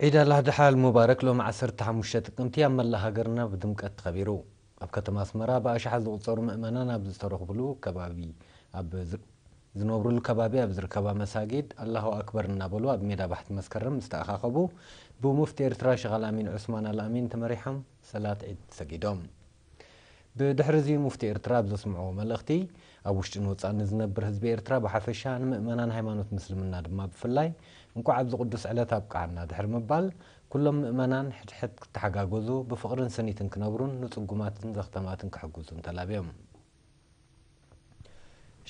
ዒድ ኣልኣድሓ ኣልሙባረክ ሎሚ ዓሰርተ ሓሙሽተ ጥቅምቲ ኣብ መላእ ሃገርና ብድምቀት ተኸቢሩ። ኣብ ከተማ ኣስመራ ብኣሽሓት ዝቑጸሩ ምእመናን ኣብ ዝተረኽብሉ ከባቢ ኣብ ዝ- ዝነብሩሉ ከባቢ ኣብ ዝርከባ መሳጊድ ኣላሁ ኣክበር እናበሉ ኣብ ሜዳ ባሕቲ መስከረም ምስ ተኣኻኸቡ ብሙፍቲ ኤርትራ ሸኽ ኣልኣሚን ዑስማን ኣልኣሚን ተመሪሖም ሰላት ዒድ ሰጊዶም። ብድሕሪ እዚ ሙፍቲ ኤርትራ ኣብ ዘስምዕዎ መልእኽቲ ኣብ ውሽጥን ወጻእን ንዝነብር ህዝቢ ኤርትራ ብሓፈሻ ንምእመናን ሃይማኖት ምስልምና ድማ ብፍላይ እንኳዕ ኣብዚ ቅዱስ ዕለት ኣብቅዓና ድሕሪ ምባል ኩሎም ምእመናን ሕድሕድ ክተሓጋገዙ ብፍቕርን ስኒትን ክነብሩን ንጽጉማትን ዘኽተማትን ክሕግዙን ተላብዮም።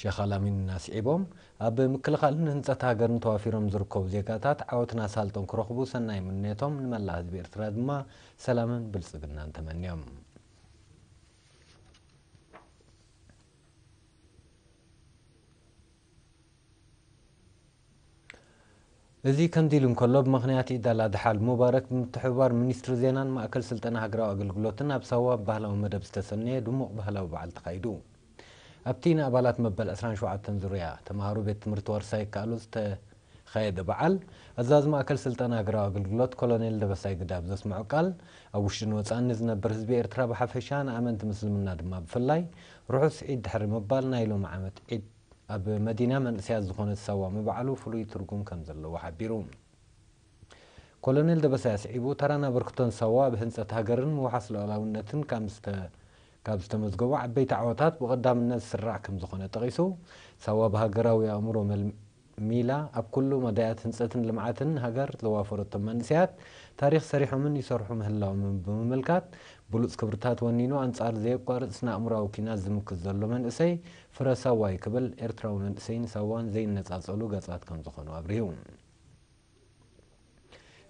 ሸኽ ኣልኣሚን ኣስዒቦም ኣብ ምክልኻልን ህንጸት ሃገርን ተዋፊሮም ዝርከቡ ዜጋታት ዓወትን ኣሳልጦን ክረኽቡ ሰናይ ምንዮቶም ንመላእ ህዝቢ ኤርትራ ድማ ሰላምን ብልጽግናን ተመንዮም። እዚ ከምዚ ኢሉ እንከሎ ብምኽንያት ዒድ ኣልኣድሓ ኣልሙባረክ ብምትሕብባር ሚኒስትሪ ዜናን ማእከል ስልጠና ሃገራዊ ኣገልግሎትን ኣብ ሳዋ ብባህላዊ መደብ ዝተሰነየ ድሙቕ ባህላዊ በዓል ተኻይዱ። ኣብቲ ንኣባላት መበል ዕስራን ሸውዓተን ዙርያ ተምሃሮ ቤት ትምህርቲ ዋርሳይ ይከኣሉ ዝተኻየደ በዓል ኣዛዚ ማእከል ስልጠና ሃገራዊ ኣገልግሎት ኮሎኔል ደበሳይ ግዳብ ዘስምዖ ቃል ኣብ ውሽጥን ወጻእን ንዝነብር ህዝቢ ኤርትራ ብሓፈሻ ንኣመንቲ ምስልምና ድማ ብፍላይ ርሑስ ዒድ ድሕሪ ምባል ናይ ሎሚ ዓመት ዒድ ኣብ መዲና መንእሰያት ዝኾነት ሳዋ ምብዓሉ ፍሉይ ትርጉም ከም ዘለዎ ሓቢሩ። ኮሎኔል ደበሳይ ኣስዒቡ ተራን ኣበርክቶን ሳዋ ኣብ ህንጸት ሃገርን ምውሓስ ሉዓላውነትን ካብ ዝተ- ካብ ዝተመዝገቡ ዓበይቲ ዓወታት ብቐዳምነት ዝስራዕ ከም ዝኾነ ጠቒሱ ሳዋ ብሃገራዊ ኣእምሮ መል- ሚላ ኣብ ኩሉ መዳያት ህንጸትን ልምዓትን ሃገር ዘዋፈረቶም መንእሰያት ታሪኽ ሰሪሖምን ይሰርሑ ምህላዎምን ብምምልካት ብሉጽ ክብርታት ወኒኑ ኣንጻር ዘየቋርጽ ስነ ኣእምሮኣዊ ኲናት ዝምክት ዘሎ መንእሰይ ፍረ ሳዋ እዩ ክብል ኤርትራዊ መንእሰይን ሳዋን ዘይነጻጸሉ ገጻት ከም ዝኾኑ ኣብሪሁ።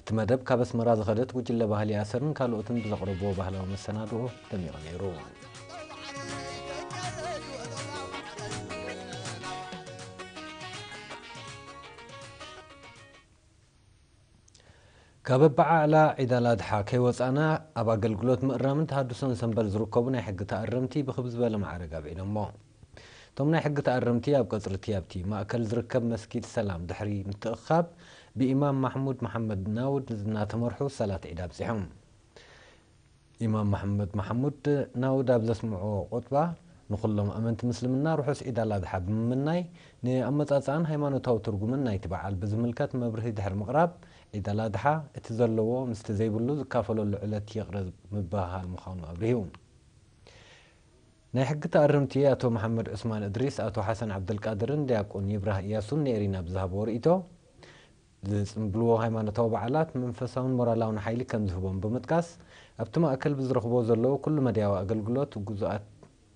እቲ መደብ ካብ ኣስመራ ዝኸደት ጉጅለ ባህሊ ኣሰርን ካልኦትን ብዘቕረብዎ ባህላዊ መሰናድኦ ደሚቑ ነይሩ። ካብ ኣበዓዕላ ዒድ ኣልኣድሓ ከይወጻእና ኣብ ኣገልግሎት ምእራምን ተሃድሶን ሰንበል ዝርከቡ ናይ ሕጊ ተኣረምቲ ብኽብ ዝበለ ማዕረግ ኣብዒሎሞ። እቶም ናይ ሕጊ ተኣረምቲ ኣብ ቀጽሪ እቲ ኣብቲ ማእከል ዝርከብ መስጊድ ሰላም ድሕሪ ምትእኽኻብ ብኢማም ማሕሙድ መሓመድ ናውድ እናተመርሑ ሰላት ዒድ ኣብጺሖም። ኢማም መሓመድ መሓሙድ ናውድ ኣብ ዘስምዕዎ ቁጥባ ንኹሎም ኣመንቲ ምስልምና ርሑስ ዒድ ኣልኣድሓ ብምምናይ ንኣመጻጽኣን ሃይማኖታዊ ትርጉምን ናይቲ በዓል ብዝምልከት መብርሂ ድሕሪ ምቕራብ ዒድ ኣልኣድሓ እቲ ዘለዎ ምስቲ ዘይብሉ ዝካፈለሉ ዕለት ይቕረ ምብህሃል ምዃኑ ኣብሪሁ። ናይ ሕጊ ተኣረምቲ ኣቶ መሓመድ ዑስማን እድሪስ፣ ኣቶ ሓሰን ዓብደልቃድርን ዲያቆን ይብራህ እያሱን ንኤሪና ብዝሃብዎ ርእይቶ፣ ዝጽንብልዎ ሃይማኖታዊ በዓላት መንፈሳውን ሞራላውን ሓይሊ ከም ዝህቦም ብምጥቃስ፣ ኣብቲ ማእከል ብዝረኽብዎ ዘለዉ ኩሉ መዳያዊ ኣገልግሎት ግዙኣት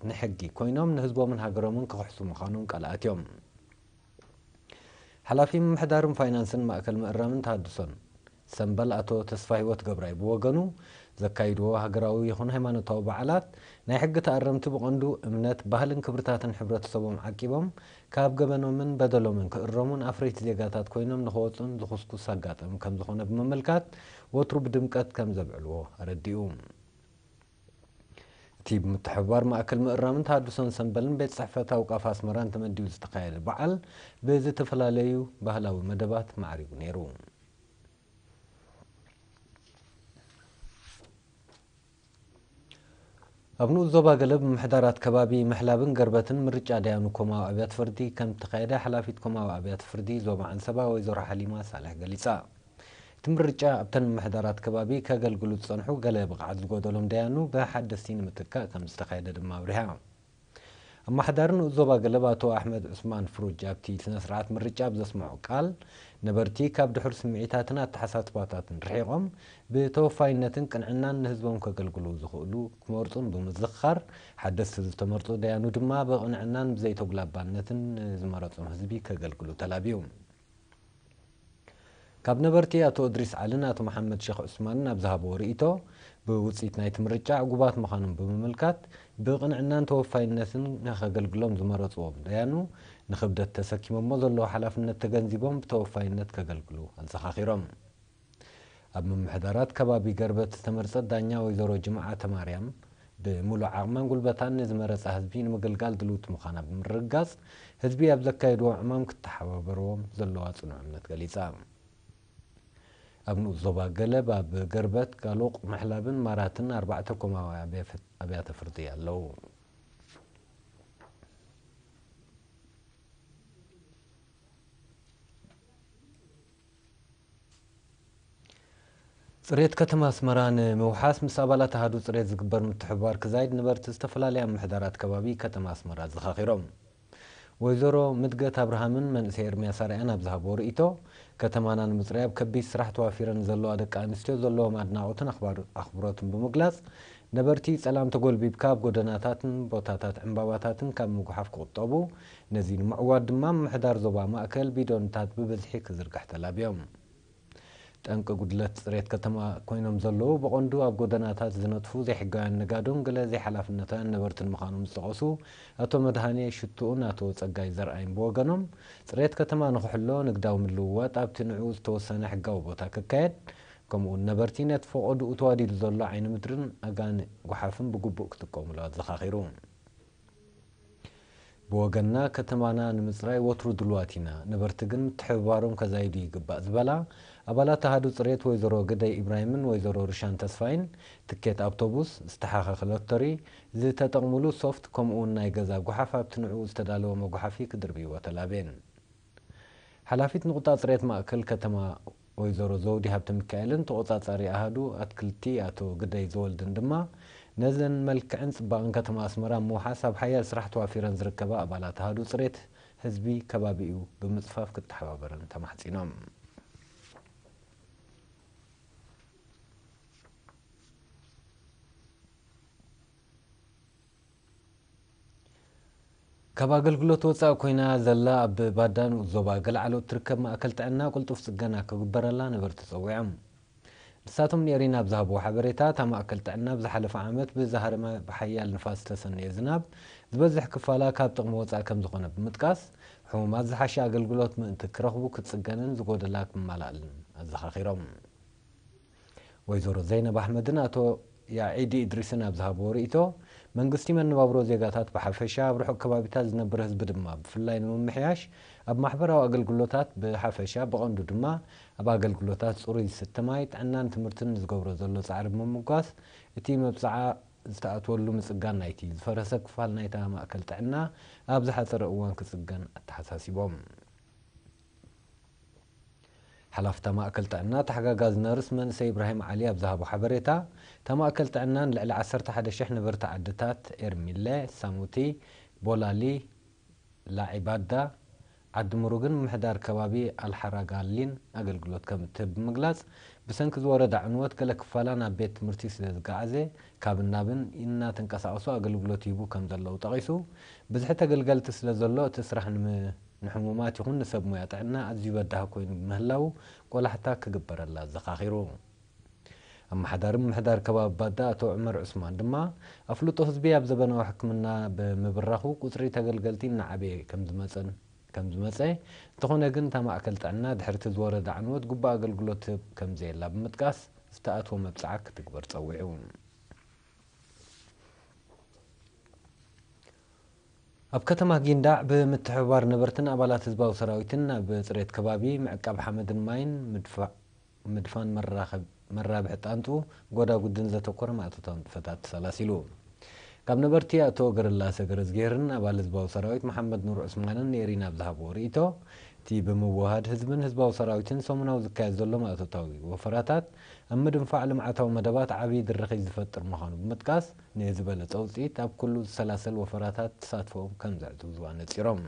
ንሕጊ ኮይኖም ንህዝቦምን ሃገሮምን ክኽሕሱ ምዃኖም ቃል ኣትዮም። ሓላፊ ምምሕዳርን ፋይናንስን ማእከል ምእራምን ተሃድሶን ሰምበል ኣቶ ተስፋሂወት ገብራይ ብወገኑ፣ ዘካይድዎ ሃገራዊ ይኹን ሃይማኖታዊ በዓላት ናይ ሕጊ ተኣረምቲ ብቐንዱ እምነት፣ ባህልን ክብርታትን ሕብረተሰቦም ዓቂቦም ካብ ገበኖምን በደሎምን ክእረሙን ኣፍረይቲ ዜጋታት ኮይኖም ንኽወጹን ዝኹስኩስ ኣጋጣሚ ከም ዝኾነ ብምምልካት፣ ወትሩ ብድምቀት ከም ዘብዕልዎ ኣረዲኡ። እቲ ብምትሕብባር ማእከል ምእራምን ተሃድሶን ሰምበልን ቤት ጽሕፈት ኣውቃፍ ኣስመራን ተመዲቡ ዝተኻየደ በዓል ብዝተፈላለዩ ባህላዊ መደባት ማዕሪጉ ነይሩ። ኣብ ንኡስ ዞባ ገለ ብምሕዳራት ከባቢ ምሕላብን ገርበትን ምርጫ ደያኑ ኮማዊ ኣብያተ ፍርዲ ከም እተኻየደ ሓላፊት ኮማዊ ኣብያተ ፍርዲ ዞባ ዓንሰባ ወይዘሮ ሓሊማ ሳልሕ ገሊጻ። እቲ ምርጫ ኣብተን ምምሕዳራት ከባቢ ከገልግሉ ዝጸንሑ ገለ ብቕዓት ዝጎደሎም ደያኑ ብሓደስቲ ንምትካእ ከም ዝተኻየደ ድማ ኣብሪሃ። ኣመሓዳሪ ንኡስ ዞባ ገለብ ኣቶ ኣሕመድ ዑስማን ፍሩጅ ኣብቲ ስነ ስርዓት ምርጫ ኣብ ዘስምዖ ቃል፣ ነበርቲ ካብ ድሑር ስምዒታትን ኣተሓሳስባታትን ርሒቖም ብተወፋይነትን ቅንዕናን ንህዝቦም ከገልግሉ ዝኽእሉ ክመርጹን ብምዝኽኻር፣ ሓደስቲ ዝተመርጹ ደያኑ ድማ ብቕንዕናን ብዘይተጉላባነትን ንዝመረጾም ህዝቢ ከገልግሉ ተላብዩ። ካብ ነበርቲ ኣቶ እድሪስ ዓልን ኣቶ መሓመድ ሸኽ ዑስማንን ኣብ ዝሃብዎ ርእይቶ፣ ብውጽኢት ናይቲ ምርጫ ዕጉባት ምዃኖም ብምምልካት፣ ብቕንዕናን ተወፋይነትን ንኸገልግሎም ዝመረጽዎም ደያኑ ንኽብደት ተሰኪሞሞ ዘለዉ ሓላፍነት ተገንዚቦም ብተወፋይነት ከገልግሉ ኣዘኻኺሮም። ኣብ ምምሕዳራት ከባቢ ገርበት ዝተመርጸት ዳኛ ወይዘሮ ጅምዓተ ማርያም፣ ብምሉእ ዓቕማን ጉልበታን ንዝመረጻ ህዝቢ ንምግልጋል ድልውቲ ምዃና ብምርግጋጽ፣ ህዝቢ ኣብ ዘካየድዎ ዕማም ክተሓባበርዎም ዘለዋ ጽኑዕ እምነት ገሊጻ። ኣብ ንኡስ ዞባ ገለብ፣ ኣብ ገርበት፣ ጋሎቕ፣ መሕላብን ማራትን ኣርባዕተ ኮማዊ ኣብያ-፣ ኣብያተ ፍርዲ ኣለዉ። ጽሬት ከተማ ኣስመራ ንምውሓስ ምስ ኣባላት ኣሃዱ ጽሬት ዝግበር ምትሕብባር ክዛይድ ነበርቲ ዝተፈላለያ ምምሕዳራት ከባቢ ከተማ ኣስመራ ኣዘኻኺሮም። ወይዘሮ ምድገት ኣብርሃምን መንእሰይ ኤርምያስ ኣርኣያን ኣብ ዝሃብዎ ርእይቶ፣ ከተማና ንምጽራይ ኣብ ከቢድ ስራሕ ተዋፊረን ዘለዋ ደቂ ኣንስትዮ ዘለዎም ኣድናቖትን ኣኽባር-፣ ኣኽብሮትን ብምግላጽ፣ ነበርቲ ጸላም ተጎልቢብካ ኣብ ጎደናታትን ቦታታት ዕምባባታትን ካብ ምጉሓፍ ክቑጠቡ፣ ነዚ ንምዕዋት ድማ ምምሕዳር ዞባ ማእከል ቢዶንታት ብብዝሒ ክዝርግሕ ተላብዮም። ጠንቂ ጉድለት ጽሬት ከተማ ኮይኖም ዘለዉ ብቐንዱ ኣብ ጎደናታት ዝነጥፉ ዘይሕጋውያን ነጋዶን ገለ ዘይሓላፍነታውያን ነበርትን ምዃኖም ዝጠቐሱ ኣቶ መድሃኔ ሽቱኡን ኣቶ ጸጋይ ዘርኣይን ብወገኖም፣ ጽሬት ከተማ ንኽሕሎ ንግዳዊ ምልውዋጥ ኣብቲ ንዕኡ ዝተወሰነ ሕጋዊ ቦታ ክካየድ፣ ከምኡውን ነበርቲ ነቲ ፈቐድኡ ተዋዲዱ ዘሎ ዓይኒ ምድርን ኣጋን ጓሓፍን ብግቡእ ክጥቀሙሉ ኣዘኻኺሩ። ብወገንና፣ ከተማና ንምጽራይ ወትሩ ድሉዋት ኢና፣ ነበርቲ ግን ምትሕብባሮም ከዛይዱ ይግባእ ዝበላ ኣባላት ኣሃዱ ጽሬት ወይዘሮ ግደይ ኢብራሂምን ወይዘሮ ርሻን ተስፋይን፣ ትኬት ኣውቶቡስ፣ ዝተሓኸኸ ሎተሪ፣ ዝተጠቕሙሉ ሶፍት፣ ከምኡውን ናይ ገዛ ጓሓፍ ኣብቲ ንዕኡ ዝተዳለወ መጓሓፊ ክድርብይዎ ተላብየን። ሓላፊት ንቑጣ ጽሬት ማእከል ከተማ ወይዘሮ ዘውዲ ሃብተሚካኤልን ተቖጻጻሪ ኣሃዱ ኣትክልቲ ኣቶ ግደይ ዘወልድን ድማ፣ ነዘን መልክዕን ጽባቕን ከተማ ኣስመራ ምውሓስ ኣብ ሓያል ስራሕ ተዋፊረን ዝርከባ ኣባላት ኣሃዱ ጽሬት ህዝቢ ከባቢኡ ብምጽፋፍ ክተሓባበረን ተማሕጺኖም። ካብ ኣገልግሎት ወጻኢ ኮይና ዘላ ኣብ ባዳ ንኡስ ዞባ ገለዓሎ እትርከብ ማእከል ጥዕና ቅልጡፍ ጽገና ክግበረላ ነበርቲ ጸዊዖም። ንሳቶም ንኤሪና ኣብ ዝሃብዎ ሓበሬታ፣ እታ ማእከል ጥዕና ኣብ ዝሓለፈ ዓመት ብዝሃረመ ብሓያል ንፋስ ዝተሰነየ ዝናብ ዝበዝሕ ክፋላ ካብ ጥቕሚ ወጻኢ ከም ዝኾነ ብምጥቃስ፣ ሕሙማት ዝሓሸ ኣገልግሎት ምእንቲ ክረኽቡ ክትጽገንን ዝጎደላ ክመላእልን ኣዘኻኺሮም። ወይዘሮ ዘይነብ ኣሕመድን ኣቶ ያዒዲ እድሪስን ኣብ ዝሃብዎ ርእይቶ፣ መንግስቲ መነባብሮ ዜጋታት ብሓፈሻ፣ ኣብ ርሑቕ ከባቢታት ዝነብር ህዝቢ ድማ ብፍላይ ንምምሕያሽ፣ ኣብ ማሕበራዊ ኣገልግሎታት ብሓፈሻ፣ ብቐንዱ ድማ ኣብ ኣገልግሎታት ጽሩይ ዝስተ ማይ፣ ጥዕናን ትምህርትን ንዝገብሮ ዘሎ ጻዕሪ ብምምጓስ፣ እቲ መብጽዓ ዝተኣትወሉ ምጽጋን ናይቲ ዝፈረሰ ክፋል ናይታ ማእከል ጥዕና ኣብ ዝሓጸረ እዋን ክጽገን ኣተሓሳሲቦም። ሓላፍታ ማእከል ጥዕና ተሓጋጋዚ ነርስ መንእሰይ ኢብራሂም ዓሊ ኣብ ዝሃቦ ሓበሬታ፣ እታ ማእከል ጥዕና ንልዕሊ ዓሰርተ ሓደ ሽሕ ነበርቲ ዓድታት ኤርሚለ፣ ሳሙቲ፣ ቦላሊ፣ ላዒባዳ፣ ዓዲ ምሩግን ምምሕዳር ከባቢ ኣልሓራጋሊን ኣገልግሎት ከም እትህብ ብምግላጽ፣ ብሰንኪ ዝወረዳ ዕንወት ገለ ክፋላ ናብ ቤት ትምህርቲ ስለ ዝገዓዘ፣ ካብን ናብን እናተንቀሳቐሱ ኣገልግሎት ይህቡ ከም ዘለዉ ጠቒሱ፣ ብዝሒ ተገልገልቲ ስለ ዘሎ እቲ ስራሕ ንም-፣ ንሕሙማት ይኹን ንሰብ ሞያ ጥዕና ኣዝዩ በዳሂ ኮይኑ ብምህላዉ ቆላሕታ ክግበረላ ኣዘኻኺሩ። ኣመሓዳሪ ምምሕዳር ከባቢ ባዳ ኣቶ ዑመር ዑስማን ድማ ኣፍልጦ ህዝቢ ኣብ ዘበናዊ ሕክምና ብምብራኹ ቁጽሪ ተገልገልቲ እናዓበየ ከም ዝመጸን ከም ዝመጸ፣ እንተኾነ ግን እታ ማእከል ጥዕና ድሕሪ እቲ ዝወረደ ዕንወት ግቡእ ኣገልግሎት ትህብ ከም ዘየላ ብምጥቃስ ዝተኣትወ መብጽዓ ክትግበር ጸዊዑ። ኣብ ከተማ ጊንዳዕ ብምትሕብባር ነበርትን ኣባላት ህዝባዊ ሰራዊትን ኣብ ጽሬት ከባቢ ምዕቃብ ሓመድን ማይን ምድፋ-፣ ምድፋን መራኸብ-፣ መራብሒ ጣንጡ ጎዳጉድን ዘተኮረ ማእቶታዊ ንጥፈታት ተሰላሲሉ። ካብ ነበርቲ ኣቶ ገረላሰ ገረዝጌርን ኣባል ህዝባዊ ሰራዊት መሓመድ ኑር ዑስማንን ንኤሪና ኣብ ዝሃብዎ ርእይቶ፣ እቲ ብምውህሃድ ህዝብን ህዝባዊ ሰራዊትን ሰሙናዊ ዝካየድ ዘሎ ማእቶታዊ ወፈራታት ኣብ ምድንፋዕ ልምዓታዊ መደባት ዓብዪ ድርኺት ዝፈጥር ምዃኑ ብምጥቃስ፣ ንዝበለጸ ውጽኢት ኣብ ኩሉ ዝሰላሰል ወፈራታት ተሳትፎኦም ከም ዘዕዝዙ ኣነጺሮም።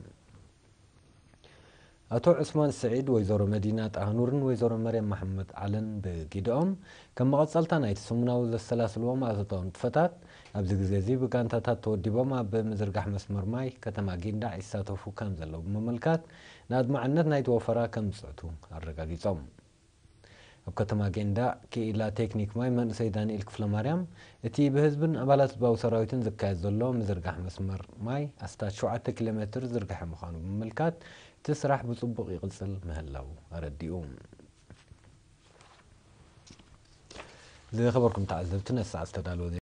ኣቶ ዑስማን ስዒድ፣ ወይዘሮ መዲና ጣህኑርን ወይዘሮ መርያም መሓመድ ዓለን ብጊደኦም፣ ከም መቐጸልታ ናይቲ ሰሙናዊ ዘሰላስልዎ ማእቶታዊ ንጥፈታት፣ ኣብዚ ግዜ እዚ ብጋንታታት ተወዲቦም ኣብ ምዝርጋሕ መስመር ማይ ከተማ ጊንዳዕ ይሳተፉ ከም ዘለዉ ብምምልካት፣ ንኣድማዕነት ናይቲ ወፈራ ከም ዝጽዕቱ ኣረጋጊጾም። ኣብ ከተማ ጌንዳ ክኢላ ቴክኒክ ማይ መንእሰይ ዳንኤል ክፍለማርያም፣ እቲ ብህዝብን ኣባላት ህዝባዊ ሰራዊትን ዝካየድ ዘሎ ምዝርጋሕ መስመር ማይ ኣስታት ሸውዓተ ኪሎ ሜትር ዝርግሐ ምዃኑ ብምምልካት፣ እቲ ስራሕ ብጽቡቕ ይቕጽል ምህላዉ ኣረዲኡ። ዝኸበርኩም ተዓዘብቲ፣ ነቲ ሰዓት ዝተዳለወ